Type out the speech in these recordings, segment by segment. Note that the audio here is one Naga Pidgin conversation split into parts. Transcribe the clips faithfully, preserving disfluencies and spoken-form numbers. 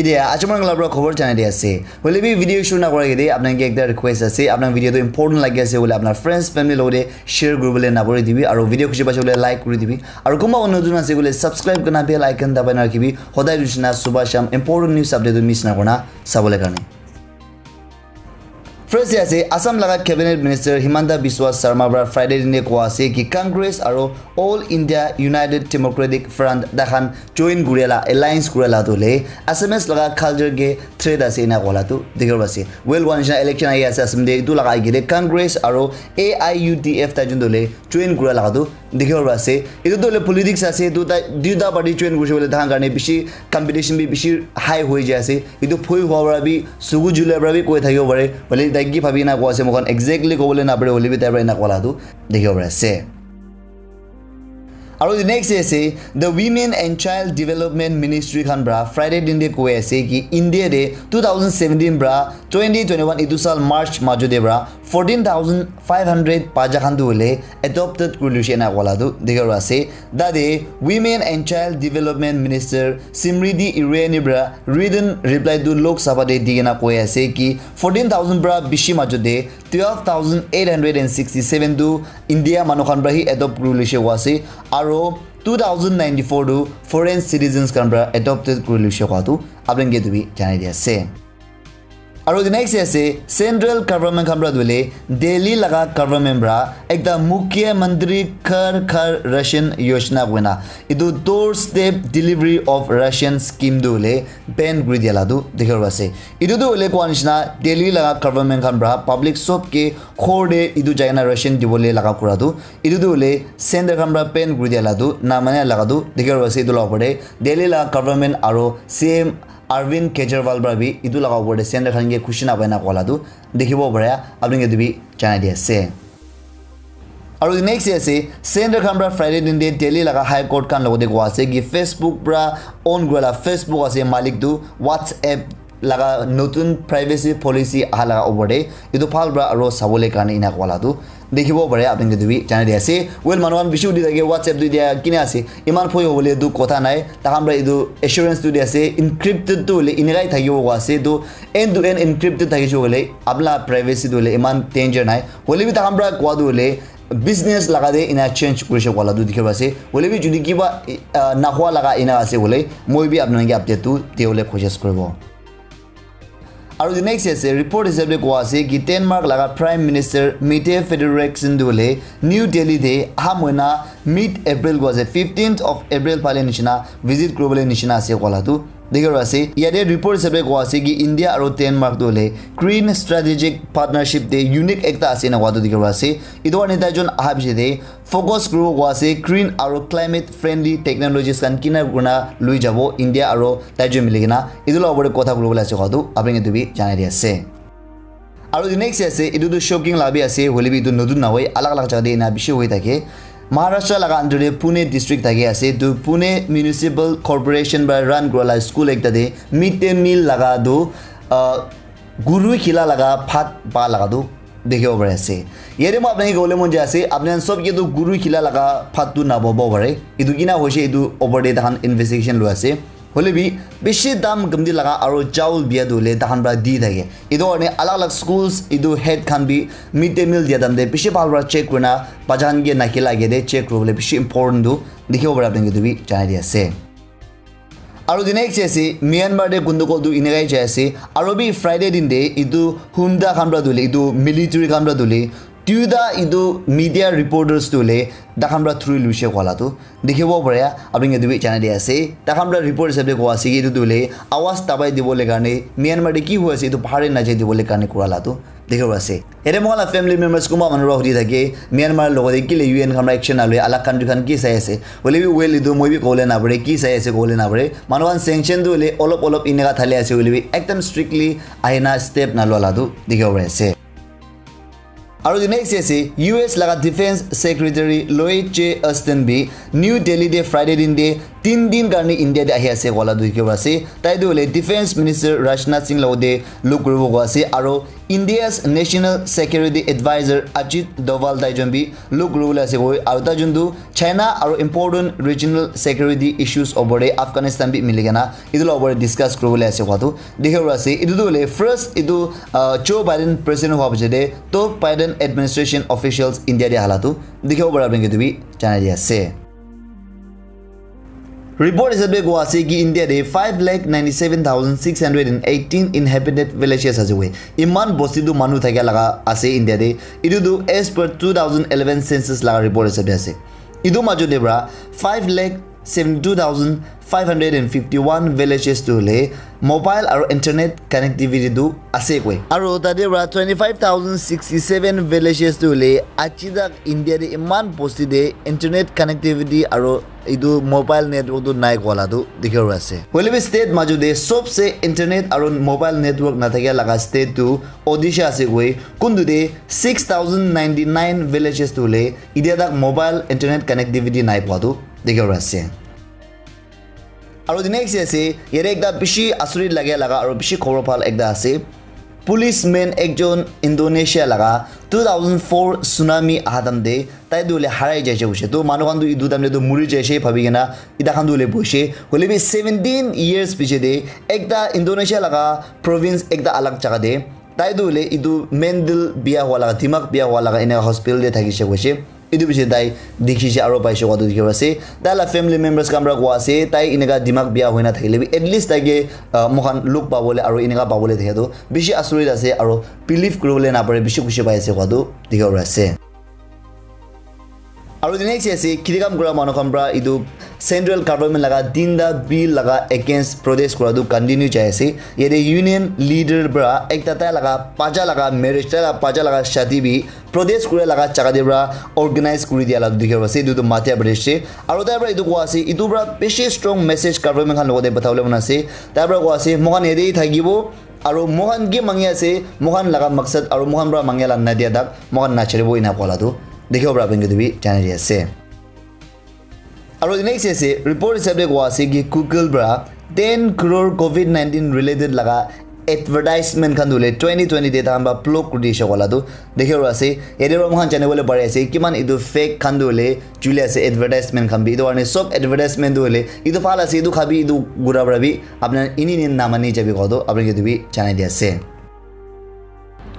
Etia acha mon la para khobor janai di ase. Hoile bi video shuru na kora ke de apna ke ekta request ase. Apna video tu important lagi ase hoile apna friends, family logote share kuribole na puri dibi. Aru video khushi paise hoile like kuri dibi. Aru kumba notun ase hoile subscribe kurna bell icon dabai na rakhibi. Hodai dusina subah sham important news update tu miss na korna sabole karne. First te ase, Assam laga Cabinet Minister Himanta Biswa Sarma para Friday dine koa ase ki Congress aro All India United Democratic Front dakhan join kuriala, alliance kuriala tu le Assamese laga culture ke threat ase ena koala tu dikhibo ase. Well, one nishina election ahi ase Assam te, itu laga age te Congress aro A I U D F ta jun tu le join kura laga tu dikhibo pari ase. Etu tu hoile politics ase, etu tai duita party join kurise koile tahan karne bishi competition bi bishi high hoi jai ase. Etu phoi hua para bi, sugu jule para bi koi thakibo pare. Hoile tai ki bhabi na koi ase, moikhan exactly kobole na pare, hoile bi tai para ena koala tu dikhibo pari ase. Aro the next day ase, the Women and Child Development Ministry khan para Friday din de koi ase ki India de two thousand seventeen para twenty twenty-one itu sal March majo de para fourteen thousand five hundred bacha khan tu hoile adopted kuri luishe ena koala tu dikhibo ase. Tate Women and Child Development Minister Smriti Irani para written reply tu Lok Sabha te di kena koi ase ki fourteen thousand para bishi majo te twelve thousand eight hundred and sixty-seven tu India manu khan para hi adopt kuri luishe koa ase, aro two thousand ninety-four tu foreign citizens khan para adopted kuri luishe koa tu apni ke tu bi janai di ase. Aro the next ase, central government khan para tu hoile Delhi laga government para ekta Mukhyamantri Ghar Ghar Ration Yojana koina etu doorstep delivery of ration scheme tu hoile ban kuri dia la tu dikhibo ase. Etu tu hoile koa nishina Delhi laga government khan para public sob ke ghor te etu jai kena ration dibole laga kura tu, etu tu hoile center khan para ban kuri dia la tu na mane laga tu dikhibo ase. Etu la opor te Delhi laga government aro C M Arvind Kejriwal para bi etu laga opor te center khan ke khushi na pai na koala tu dikhibo pare, apni ke tu bi janai di ase. Aro next day ase, center khan para Friday din de Delhi laga High Court khan logote koa ase ki Facebook para own kura la Facebook ase malik tu WhatsApp laga notun privacy policy aha laga opor te etu bhal para aro sabole karne ena koala tu dikhibo pare, apni ke tu bi janai di ase. Well, manu khan bishi udi thake WhatsApp tu dia kine ase, iman phoi hobole tu kotha nai, takhan para etu assurance tu di ase, encrypted tu hoile enekai thakibo koa ase, tu end to end encrypted thakishe koile apna privacy tu hoile iman danger nai. Hoile bi takhan para koa tu hoile business laga te ena change kurishe koala tu dikhibo ase. Hoile bi jodi kiba, ah, nahua laga ena ase hoile, moi bi apna ke update tu dibole koshish kuribo. Aro the next ase, report hisab te koa ase ki Denmark laga Prime Minister Mette Frederiksen tu hoile New Delhi te aha moina mid April koa ase, fifteenth of April phale nishina visit kuribole nishina ase koala tu dikhibo ase. Yate report hisab te koa ase ki India aro Denmark tu hoile green strategic partnership te unique ekta ase ena koa tu dikhibo ase. Etu karne tai jun aha piche te focus kuribo koa ase green aro climate friendly technologies khan kina kurina lui jabo India aro tai jun mili kena. Etu la opor te kotha kuribole ase koa tu apni ke tu bi janai di ase. Aro the next ase, etu tu shocking la bi ase, hoile bi etu notun na hoi, alag alag jaga te ena bishi hoi thake. Maharashtra laga under te Pune district thaki ase, tu Pune Municipal Corporation para run kura la school ekta te mid day meal laga tu, ah, guru khila laga bhat pa laga tu dikhibo pari ase. Yate moi apni ke kobole mon jai ase, apni khan sob ke tu guru khila laga bhat tu nababo pare. Etu kina hoise, etu opor te takhan investigation lui ase. Hoile bi bishi dam gamdi laga aro chawl bia tu hoile takhan para di thake. Etu karne alag alag schools etu head khan bi mid day meal dia time te bishi bhal para check kurina bacha khan ke nakhila age te check kuribole bishi important tu dikhibo pare, apni ke tu bi janai di ase. Aro the next ase, Myanmar te gundugol tu enekai jai ase. Aro bi Friday din te etu hunta khan para tu hoile, etu military khan para tu hoile, duita etu media reporters tu hoile takhan para thuri luishe koala tu dikhibo pare, apni ke tu bi janai di ase. Takhan para report hisab te koa ase ki etu tu hoile awaz dabai dibole karne Myanmar te ki hoi ase etu bahar te najai dibole karne kura la tu dikhibo ase. Yate moi khan la family members kunba manu para hudi thake Myanmar logote kile U N khan para action naloi, alag country khan ki sai ase. Hoile bi well etu moi bi kobole na pare, ki sai ase kobole na pare. Manu khan sanction tu hoile olop olop eneka thali ase, hoile bi ekdam strictly ahina step nalua la tu dikhibo pari ase. Aro the next ase, U S laga Defense Secretary Lloyd J Austin bi New Delhi te Friday din te tin din karne India te ahi ase koala tu dikhibo ase. Tai tu hoile Defense Minister Rajnath Singh logote log kuribo koa ase, aro India's National Security Advisor Ajit Doval tai jun bi look kuribole ase koi, aru tai jun tu China aru important regional security issues opor te Afghanistan bi mili kena etu la opor te discuss kuribole ase koa tu dikhibo pari ase. Etu tu hoile first etu, uh, Joe Biden president hua piche te top Biden administration officials India te ahala tu dikhibo pari ase, apni khan ke etu bi janai di ase. Report hisab te koa ase ki India te five lakh ninety seven thousand six hundred and eighteen inhabited villages ase koi. Iman bosti tu manu thakia laga ase India te. Etu tu as per two thousand eleven census laga report hisab te ase. Etu majo te para five lakh seventy two thousand five hundred and fifty one villages tu hoile mobile aru internet connectivity tu ase koi. Aru tate para twenty five thousand sixty seven villages tu hoile aji tak India te iman bosti te internet connectivity aru etu mobile network tu nai koa la tu dikhibo pari ase. Hoile bi state majo te sobse internet aru mobile network na thakia laga state tu Odisha ase koi. Kuntu te six thousand ninety nine villages tu hoile itia tak mobile internet connectivity nai poa tu dikhibo pari ase. Aru the next ase, yate ekta bishi asurit lage laga aru bishi khobor bhal ekta ase. Policeman ekjon Indonesia laga two thousand four tsunami aha time te tai tu hoile harai jaise koise. To manu khan tu etu time te tu muri jaise bhabi kena eta khan tu hoile boise. Hoile bi seventeen years piche te ekta Indonesia laga province ekta alag jaga te tai tu hoile etu mental biya hua laga, dimag biya hua laga eneka hospital te thakise koise. Etu piche tai dikhi se aro paise koa tu dikhi ase. Tai la family members khan para koa ase, tai eneka dimag biya hoina thakile bi, at least tai ke, ah, moikhan look pabole aro eneka pabole thakya tu bishi asurit ase aro believe kuribole napare, bishi khushi pai ase koa tu dikhi ase. Aro the next ase, kheti kam kura manu khan para etu central government laga tinta bill laga against protest kura tu continue jai ase. Yate union leader para ekta tai laga bacha laga marriage, tai laga bacha laga shadi bi protest kura laga jaga te para organize kuri dia la dikhi ase. Etu tu Madhya Pradesh te. Aro tai para etu koa ase, etu para bishi strong message government khan logote pathabole mon ase. Tai para koa ase, moikhan yate thakibo, aro moikhan ki mangi ase, moikhan laga maksad, aro moikhan para mangia la nadia tak, moikhan nacharibo ena koa la tu dikhibo para apni khan ke tu bi janai di ase. Aro next ase, report hisab te koa ase ki Google para ten crore covid nineteen related laga advertisement khan tu hoile twenty twenty te tahan para block kuri dishe koa la tu dikhibo ase. Yate para moikhan janibole pari ase kiman etu fake khan tu hoile chuli ase advertisement khan bi. Etu karne sob advertisement tu hoile etu bhal ase, etu khabi, etu gura para bi apni khan eni eni namani jabi koa tu apni khan ke tu bi janai di ase.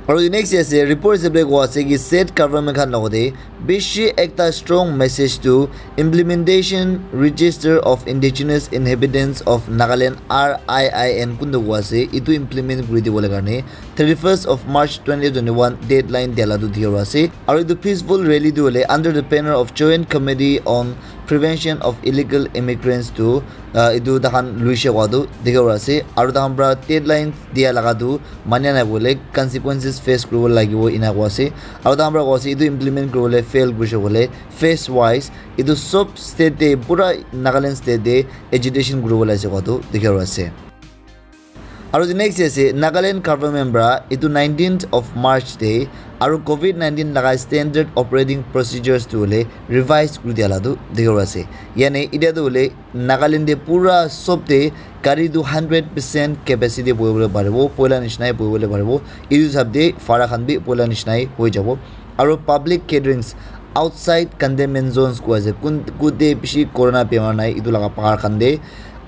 Aro next ase, report hisab te koa ase ki state government khan logote bishi ekta strong message tu Implementation Register of Indigenous Inhabitants of Nagaland, R I I N, kuntu koa ase, etu implement kuri dibole karne thirty first of March twenty twenty one deadline dia la tu dikhibo ase. Aro etu peaceful rally tu hoile under the banner of Joint Committee on Prevention of Illegal Immigrants tu, ah, etu tahan luise koa tu dikhibo ase. Aro tahan para deadline dia laga tu mania nai koile consequences face kuribo lagibo ena koa ase. Aro tahan para koa ase etu implement kuribole fail kurise koile phase wise etu sob state te pura Nagaland state te agitation kuribo laise koa tu dikhibo ase. Aro the next ase Nagaland government para etu nineteenth of March te aro covid nineteen laga standard operating procedures tu hoile revise kuri dia la tu dikhibo ase. Yani etia tu hoile Nagaland te pura sob te gari tu hundred percent capacity bohibole paribo, poila nishinai bohibole paribo. Etu hisab te bhara khan bi poila nishinai hoi jabo. Aro public gatherings outside containment zones koa ase, kun kute bishi corona bemar nai etu laga bahar khan te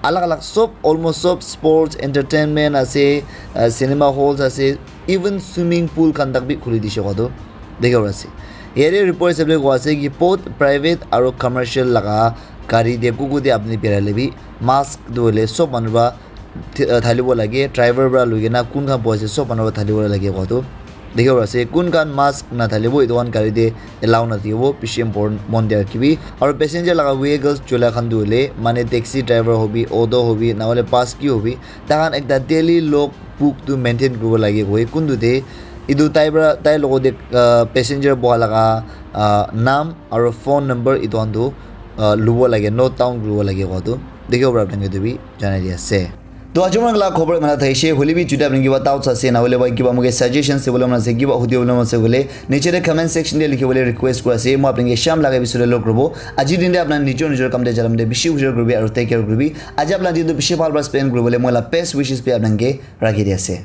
alag alag sob, almost sob sports, entertainment ase, uh, cinema halls ase, even swimming pool khan tak bi khuli dishe koa tu dikhibo ase. Yate report hisab te koa ase ki both private aro commercial laga gari te kuku te apni birai le bi mask tu hoile sob manu para thi- uh, thalibo lage, driver para lui kena kun khan bohi ase sob manu para thalibo lage koa tu dikhibo ase. Kun khan mask nathalibo etu khan gari te allow nathakibo, bishi important mon de rakhibi. Aro passenger laga vehicles chola khan tu hoile mane taxi driver hobi, auto hobi, na hoile bus ki hobi, tahan ekta daily log book tu maintain kuribo lage koi. Kuntu te etu tai para tai logote, ah, passenger boha laga, ah, naam aro phone number etu khan tu, ah, lubo lage, note down kuribo lage koa tu dikhibo para apni khan ke tu bi janai di ase. To aji mon laga khobor mana thaise, hoile bi juta apni kiba doubts ase, na hoile ba kiba moke suggestions dibole mon ase, kiba hudibole mon ase koile, niche te comment section te likhibole request kuri ase. Moi apni ke sham laga episode te log kuribo. Aji din te apni nijor nijor kam te jalam te bishi ujor kuribi aro take care kuribi. Aji apni din tu bishi bhal para spend kuribole moi la best wishes bi apni ke rakhi di ase.